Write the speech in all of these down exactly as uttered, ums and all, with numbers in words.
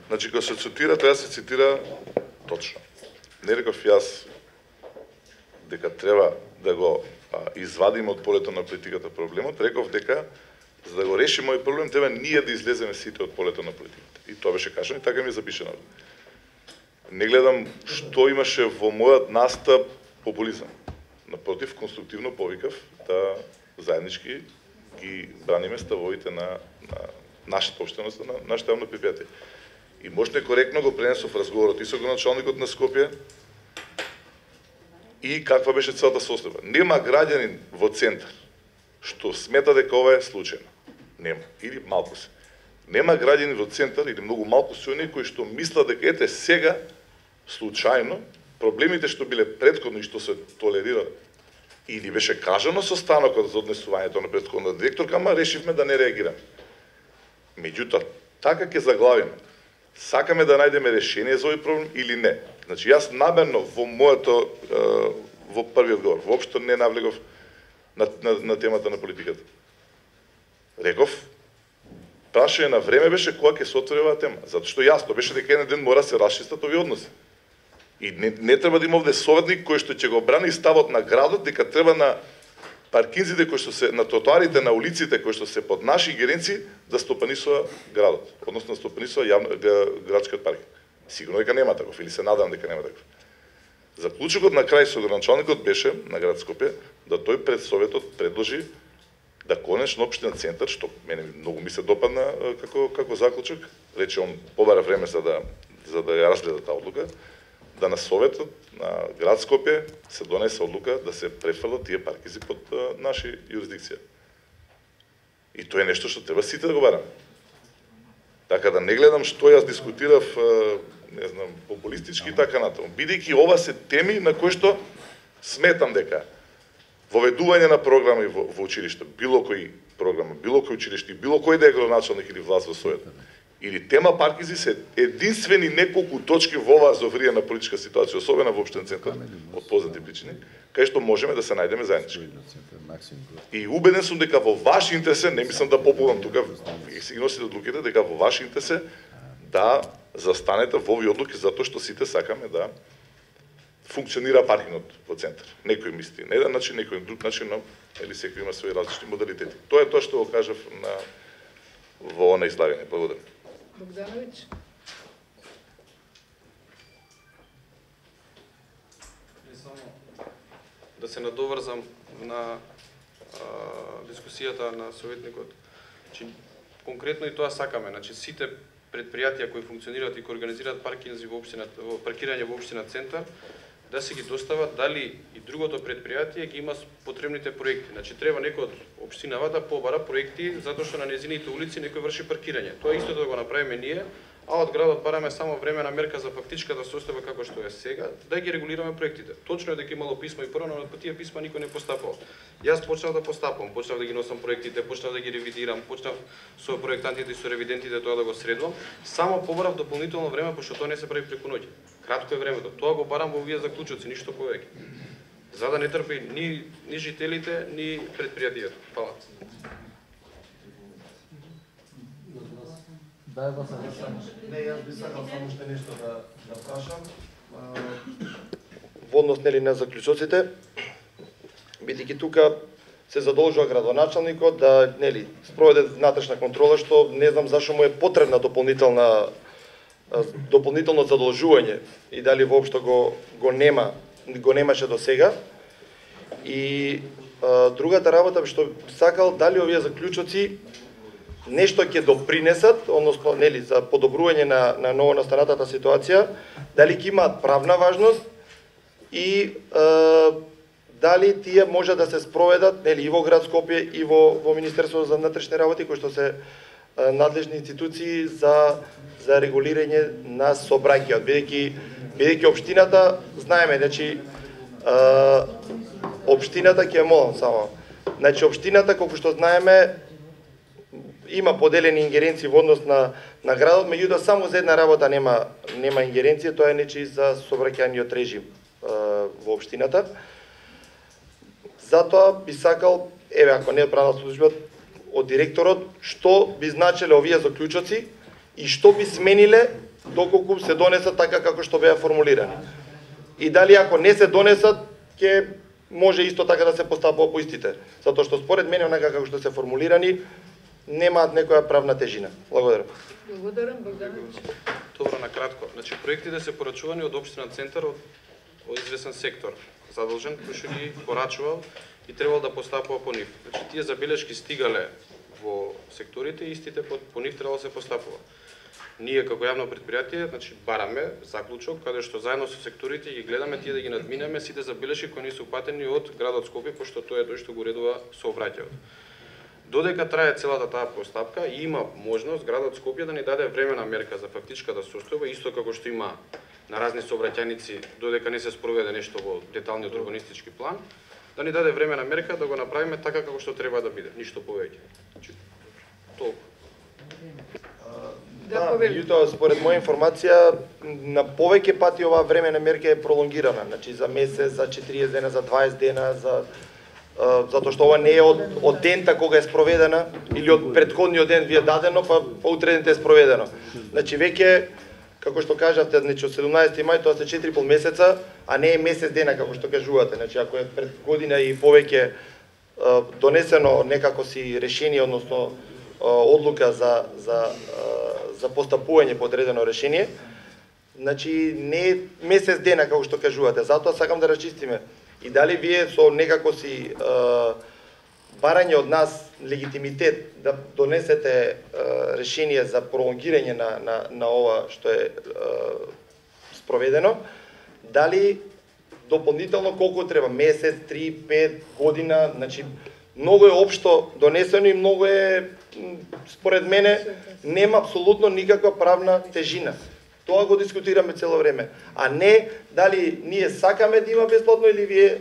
Значи, кога се цитира, треба да се цитира точно. Не реков јас дека треба да го а, извадиме од полето на политиката проблемот, реков дека за да го реши мој проблем треба ние да излеземе сите од полето на политиката. И тоа беше кажано и така ми е запишено. Не гледам што имаше во мојот настап популизам. Напротив, конструктивно повикав да заеднички ги браниме ставовите на, на нашата општеност, на нашата јавно предпријатие. И можете коректно го пренесов разговорот и со градоначалникот на Скопје и каква беше целата состојба. Нема граѓанин во центар што смета дека ова е случајно. Нема. Или малку се. Нема граѓани во центар или многу малку се оние кои што мислат дека ете сега случајно проблемите што биле претходно и што се толерирале или беше кажано со станокот за однесувањето на претходната директорка, ама решивме да не реагираме. Меѓутоа, така ќе заглавиме. Сакаме да најдеме решение за овој проблем или не. Значи, јас намерно во моето, во првиот говор, воопшто не навлегов на, на, на темата на политиката. Реков, прашање на време беше кога ќе се отвори оваа тема. Затоа што јасно беше дека еден ден мора се расчистат овие односи. И не, не треба да има овде советник кој што ќе го брани ставот на градот дека треба на паркинзите кои што се на тротоарите на улиците кои што се под наши ингеренции да стопанисува градот, односно да стопанисува јавно градскиот паркинг. Сигурно дека нема таков или се надам дека нема таков. Заклучокот на крај со градоначалникот беше на град Скопје да тој пред советот предложи да конечно општина центар, што мене многу ми се допадна како како заклучок, рече он побара време за да за да ја разгледа таа одлука, да на советот на град Скопје се донесе одлука да се префрлат тие паркизи под а, наши юрисдикција. И тоа е нешто што треба сите да го бараме. Така да не гледам што јас дискутирав, а, не знам, популистички и така натаму. Бидејќи ова се теми на кои што сметам дека воведување на програми во, во училиште, било кој програма, било кој училиште, било кој да е градоначалник или власт во својот, или тема паркизи се единствени неколку точки во оваа зовриена политичка ситуација, особено во општинен центар, од познати причини, кај што можеме да се најдеме заеднички. И убеден сум дека во ваш интерес, не мислам да популам тука, вие си ги носите одлуките, дека во ваш интерес да застанете во овие одлуки, затоа што сите сакаме да функционира паркингот во центар. Некој мисли на еден начин, некој на друг начин, но или секој има своји различни модалитети. Тоа е тоа што го кажав на во она излагање. Благодарам. Богдановиќ. Да се надоврзам на а, дискусијата на советникот. Значи, конкретно и тоа сакаме, значи сите предпријатија кои функционираат и кои организираат паркинзи во општината, во паркирање во општина центар, да се ги достават дали и другото предпријатие ги има потребните проекти. Значи треба некој од општинава да побара проекти затоа што на незините улици некој врши паркирање. Тоа исто да го направиме ние, а од градот бараме само времена мерка за фактичката состојба како што е сега, да ги регулираме проектите. Точно е дека имало писмо и порано, но по тие писма никој не постапал. Јас почнав да постапам, почнав да ги носам проектите, почнав да ги ревидирам, почнав со проектантите и со ревидентите тоа да го средувам. Само побарав дополнително време, пошто тоа не се прави преку ноќ. Кратко е времето. Тоа го барам во овие заклучоци, ништо повеќе. За да не трпи ни, ни жителите, ни предпријатието. Фала. Не, јас би сакал само уште нешто да да прашам. Во однос нели на заклучоците, бидејќи тука се задолжува градоначалникот да нели спроведе внатрешна контрола, што не знам зашто му е потребна дополнителна дополнително задолжување и дали воопшто го го нема го немаше до сега. И а, другата работа што сакал дали овие заклучоци нешто ќе допринесат, односно нели за подобрување на на новонастанатата ситуација, дали ќе имаат правна важност и е, дали тие може да се спроведат нели и во град Скопје и во во Министерството за внатрешни работи кои што се е, надлежни институции за за регулирање на сообраќајот, бидејќи бидејќи општината знаеме, значи е, општината ќе молам само. Значи општината колку што знаеме има поделени ингеренции во однос на на градот, меѓутоа само за една работа нема нема ингеренција, тоа е нечи за сообраќајниот режим е, во општината. Затоа би сакал, еве ако не е правна служба од директорот, што би значеле овие заклучоци и што би смениле доколку се донесат така како што беа формулирани. И дали ако не се донесат, ќе може исто така да се постапува по истите. Затоа што според мене, онака како што се формулирани, немаат некоја правна тежина. Благодарам. Благодарам, Богдановиќ. Добро, на кратко. Значи, проектите се порачувани од Општина Центар од, од известен сектор, задолжен, кој што ги порачувал и требал да постапува по нив. Значи, тие забелешки стигале во секторите и истите по, по нив требало да се постапува. Ние како јавно предпријатие, значи бараме заклучок каде што заедно со секторите ги гледаме тие да ги надминеме сите забелешки кои не се упатени од градот Скопје, пошто тоа е тој што го уредува сообраќајот. Додека трае целата таа постапка, има можност градот Скопје да ни даде времена мерка за фактичката состојба, исто како што има на разни сообраќајници додека не се спроведе нешто во деталниот урбанистички план, да ни даде времена мерка да го направиме така како што треба да биде, ништо повеќе. Значи, толку. Да, меѓутоа, според моја информација, на повеќе пати оваа времена мерка е пролонгирана, значи за месец, за четириесет дена, за дваесет дена, за uh, затоа што ова не е од, од дента кога е спроведена или од претходниот ден ви е дадено, па по утре ден е спроведено. Значи веќе, како што кажавте, значи од седумнаесети мај тоа се четири и пол месеца, а не е месец дена како што кажувате. Значи ако е пред година и повеќе uh, донесено некако си решение, односно одлука за за за постапување по одредено решение, значи не е месец дена како што кажувате. Затоа сакам да расчистиме и дали вие со некако си е, барање од нас легитимитет да донесете е, решение за пролонгирање на на на ова што е, е спроведено, дали дополнително колку треба, месец, три, пет година, значи многу е општо донесено и многу е, според мене, нема апсолутно никаква правна тежина. Тоа го дискутираме цело време. А не дали ние сакаме да има бесплатно или вие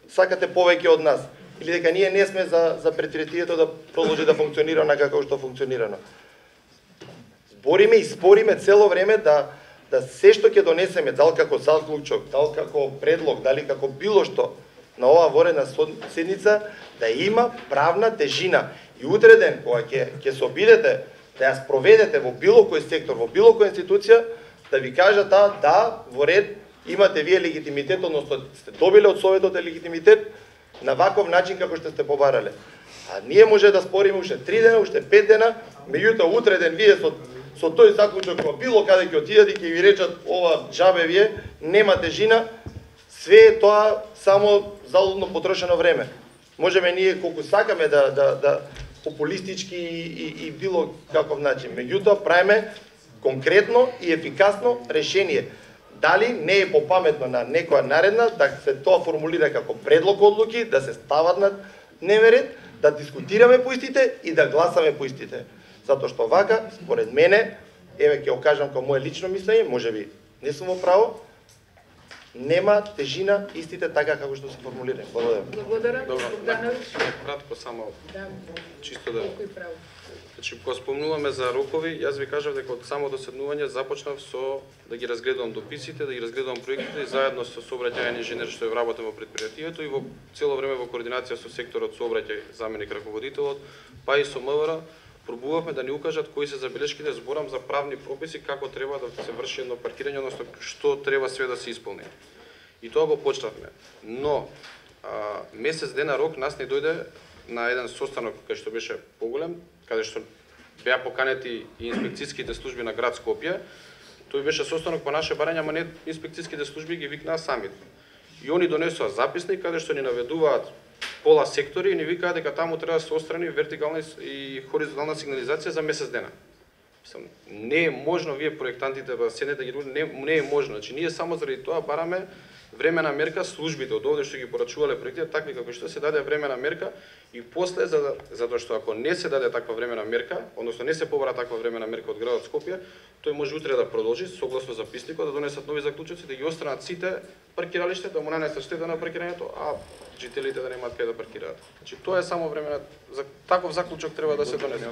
сакате повеќе од нас. Или дека ние не сме за, за предпријатието да продолжи да функционира на како што функционирано. Збориме и спориме цело време да да се што ќе донесеме, дал како заклучок, дал како предлог, дали како било што на оваа воредна седница, да има правна тежина. И утре ден, кога ќе ќе се обидете да ја спроведете во било кој сектор, во било која институција, да ви кажат да, да, во ред, имате вие легитимитет, односно сте добиле од Советот легитимитет на ваков начин како што сте побарале. А ние може да спориме уште три дена, уште пет дена, меѓутоа утре ден вие со со тој заклучок во било каде ќе отидете и ќе ви речат ова џабе вие, нема тежина, све е тоа само залудно потрошено време. Можеме ние колку сакаме да да да популистички и, и, и било каков начин. Меѓутоа правиме конкретно и ефикасно решение. Дали не е попаметно на некоја наредна да се тоа формулира како предлог одлуки, да се стават на дневен ред, да дискутираме по истите и да гласаме по истите. Затоа што вака, според мене, еве ќе го кажам како мое лично мислење, можеби не сум во право, нема тежина истите така како што се формулира. Благодарам. Благодарам. Добро, Богдановиќ. кратко само Да. чисто да. Кој право? Значи, кога спомнуваме за рокови, јас ви кажав дека од самото седнување започнав со да ги разгледувам дописите, да ги разгледувам проектите и заедно со сообраќајен инженер што е вработен во предпријатието и во цело време во координација со секторот сообраќај, заменик раководителот, па и со М В Р, пробувавме да ни укажат кои се забелешките, зборам за правни прописи, како треба да се врши едно паркирање, односно што треба све да се исполни. И тоа го почнавме. Но а, месец дена рок нас не дојде на еден состанок кај што беше поголем, каде што беа поканети и инспекцијските служби на град Скопје. Тој беше состанок по наше барање, ама не инспекцијските служби ги викнаа самите. И они донесоа записник каде што ни наведуваат пола сектори и ни викаат дека таму треба да се острани вертикална и хоризонтална сигнализација за месец дена. Мислам, не е можно вие проектантите да седнете да ги не, не е можно. Значи ние само заради тоа бараме времена мерка, службите од овде што ги порачувале проектите, такви како што се даде времена мерка и после за затоа што ако не се даде таква времена мерка, односно не се побара таква времена мерка од градот Скопје, тој може утре да продолжи согласно записникот да донесат нови заклучоци да ги отстранат сите паркиралишта, да му нанесат штета на паркирањето, а жителите да немаат каде да паркираат. Значи тоа е само времена за таков заклучок треба да се донесе.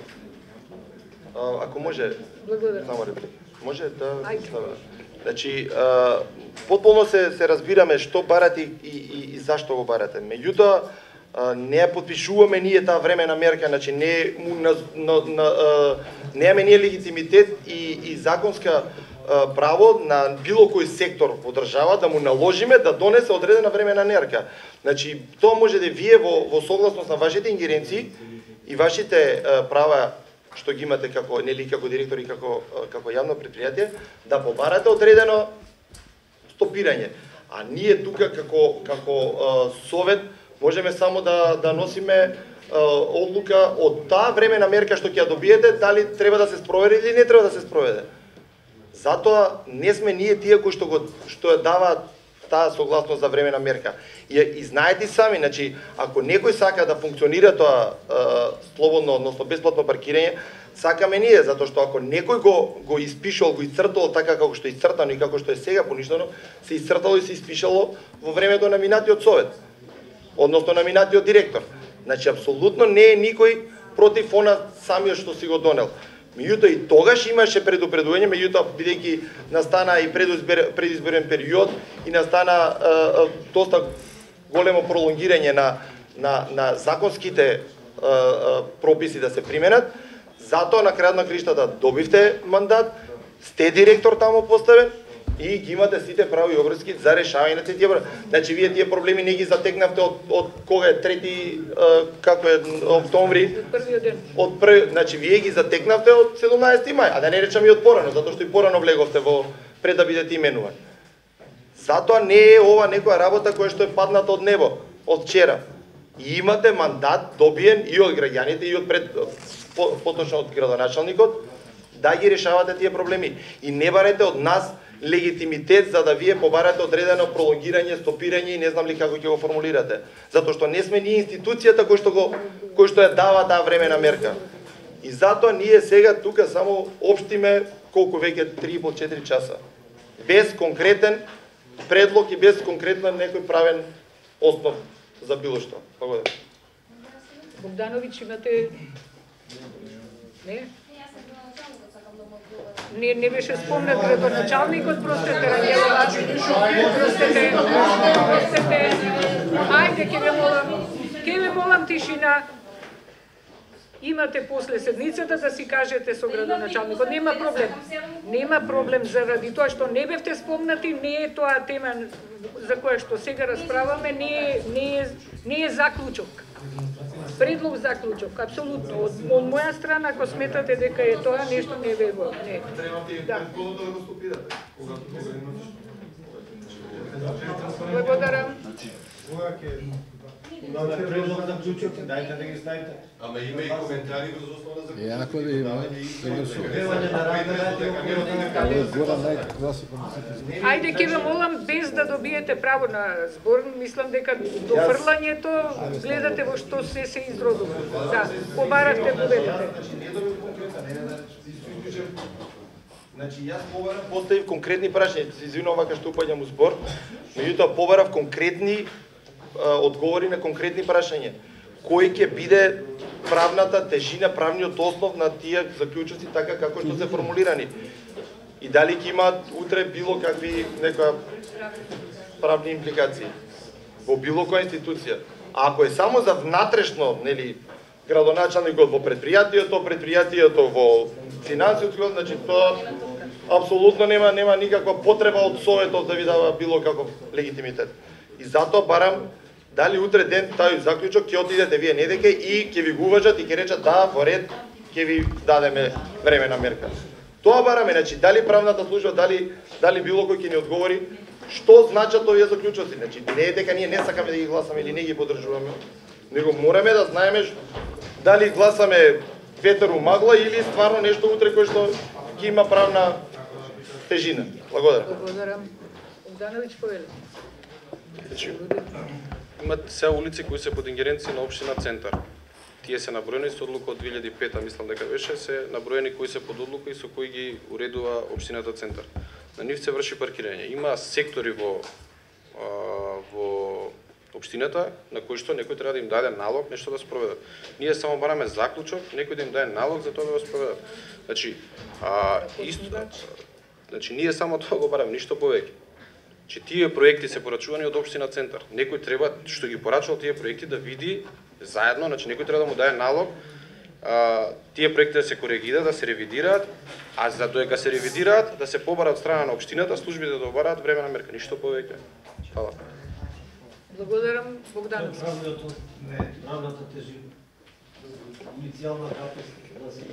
Ако може, Благодарам. само реплика. Може да Ајде. ставам. Значи, а, потполно се се разбираме што барате и, и, и зашто го барате. Меѓутоа, а, не ја подпишуваме ние таа времена мерка, значи не му на, на, на а, немаме ние легитимитет и, и законска право на било кој сектор во држава да му наложиме да донесе одредена времена мерка. Значи, тоа може да вие во, во согласност на вашите ингеренции и вашите права што ги имате како нели како директор и како како јавно претпријатие да побарате одредено стопирање. А ние тука како како совет можеме само да да носиме одлука од таа времена мерка што ќе ја добиете дали треба да се спроведе или не треба да се спроведе. Затоа не сме ние тие кои што го што ја даваат таа согласност за времена мерка. И, и знаете сами, значи, ако некој сака да функционира тоа е, слободно, односно бесплатно паркирање, сакаме ние, затоа што ако некој го го испишал, го исцртал така како што е исцртано и како што е сега поништено, се исцртало и се испишало во времето на минатиот совет, односно на минатиот директор. Значи, апсолутно не е никој против она самиот што си го донел. Меѓутоа и тогаш имаше предупредување, меѓутоа бидејќи настана и предизборен период и настана е, е, доста големо пролонгирање на на на законските е, е, прописи да се применат, затоа на крајот на криштата добивте мандат, сте директор таму поставен и ги имате сите прави и обврски за решавање на тие проблеми. Значи вие тие проблеми не ги затекнавте од од кога е трети е, како е октомври, првиот ден. Од прв, значи вие ги затекнавте од седумнаесети мај, а да не речам и од порано, затоа што и порано влеговте во пред да бидете именуван. Затоа не е ова некоја работа која што е падната од небо од вчера. И имате мандат добиен и од граѓаните и од пред по, поточно од градоначалникот да ги решавате тие проблеми. И не барете од нас легитимитет за да вие побарате одредено пролонгирање, стопирање и не знам ли како ќе го формулирате. Затоа што не сме ние институцијата кој што го кој што ја дава таа времена мерка. И затоа ние сега тука само општиме колку веќе три и пол до четири часа. Без конкретен предлог и без конкретно некој правен основ за било што. Благодарам. Богдановиќ, имате... Не? Не, не беше спомнат градоначалникот, простете, Рангелова, простете, простете, ајде, ке ве молам, ке ве молам тишина. Имате после седницата да си кажете со градоначалникот, нема проблем. Нема проблем заради тоа што не бевте спомнати, не е тоа тема за која што сега расправаме, не е, не е, не е заклучок. Предлог заклучок, апсолутно. Од, од моја страна, ако сметате дека е тоа, нешто не ве го... Не. Да. Благодарам. Имате предлог за клучок, дајте да ги ставите. Ама има и коментари врз основа за Е, ако да има, Ајде, ке ве молам, без да добиете право на збор, мислам дека до фрлањето гледате во што се се изродува. Да, побаравте, победите. Значи, јас побарав, поставив конкретни прашања, се извинувам вака што упаѓам у збор, меѓутоа побарав конкретни одговори на конкретни прашања. Кој ќе биде правната тежина, правниот основ на тие заклучоци така како што се формулирани? И дали ќе имаат утре било какви некоја правни импликации во било која институција? А ако е само за внатрешно, нели, градоначалникот во предпријатието, предпријатието во финансиот, значи тоа апсолутно нема нема никаква потреба од советот да ви дава било каков легитимитет. И затоа барам дали утре ден тај заклучок ќе отидете вие недеке и ќе ви го уважат и ќе речат да, во ред, ќе ви дадеме времена мерка. Тоа бараме, значи дали правната служба, дали дали било кој ќе ни одговори што значат овие заклучоци. Значи не е дека ние не сакаме да ги гласаме или не ги поддржуваме, него мораме да знаеме дали гласаме ветер у магла или стварно нешто утре кој што ќе има правна тежина. Благодарам. Благодарам. Богдановиќ, повели. Имат се улици кои се под ингеренција на општина Центар. Тие се наброени со одлука од две илјади и пета, мислам дека беше, се наброени кои се под одлука и со кои ги уредува општината Центар. На нив се врши паркирање. Има сектори во а, во општината на кои што некој треба да им даде налог нешто да спроведат. Ние само бараме заклучок, некој да им даде налог за тоа да го спроведат. Значи, а, исто, значи ние само тоа го бараме, ништо повеќе. Че тие проекти се порачувани од општина Центар. Некој треба што ги порачувал тие проекти да види заедно, значи некој треба да му даде налог а, тие проекти да се коригираат, да се ревидираат, а за додека се ревидираат, да се побара од страна на општината, службите да обараат времена мерка, ништо повеќе. Фала. Благодарам, Богданов. Правното, не, правната тежина. Иницијална капацитет да се